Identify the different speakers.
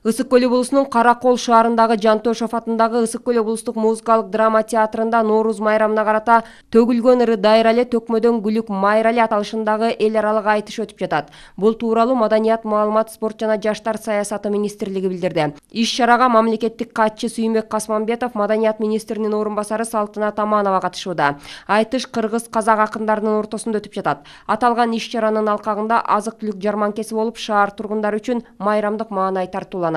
Speaker 1: Ысык Көл облусунун Каракол шаарындагы Жантошов атындагы Ысык Көл облустук музыкалык драма театрында Нооруз майрамына карата төгүлгөн ыры дайрале төкмөдөн гүлүк майрале аталышындагы эл аралык айтыш өтүп жатат. Бул тууралуу Маданият, маалымат, спорт жана жаштар саясаты министрлиги билдирди. Иш-чарага мамлекеттик катчы Сүймөк Касманбетов, Маданият министринин орун басары Салтынат Аманова катышууда. Айтыш кыргыз, казак акындарынын ортосунда өтүп жатат. Аталган иш-чаранын алкагында азык-түлүк жарманкеси болуп, шаар тургундары үчүн майрамдык маанай тартууланат.